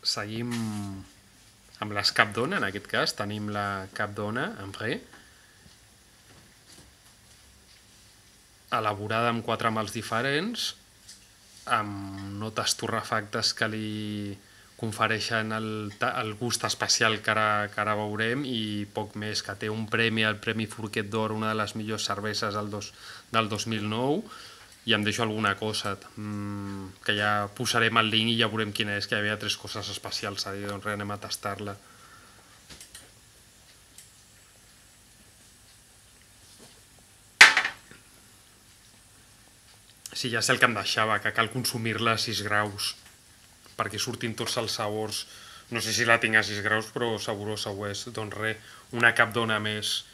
Seguim amb les Capdona, en aquest cas tenim la Capdona Ambré, elaborada amb 4 mals diferents, amb notes torrefactes que li confereixen el gust especial que ara veurem, i poc més, que té un premi, el Premi Forquet d'Or, una de les millors cerveses del 2009, i em deixo alguna cosa que ja posarem el link i ja veurem quina és, que hi havia 3 coses especials a dir, doncs res, anem a tastar-la. Sí, ja sé el que em deixava, que cal consumir-la a 6 graus perquè surtin tots els sabors. No sé si la tinc a 6 graus, però saborosa ho és. Doncs res, una Capdona més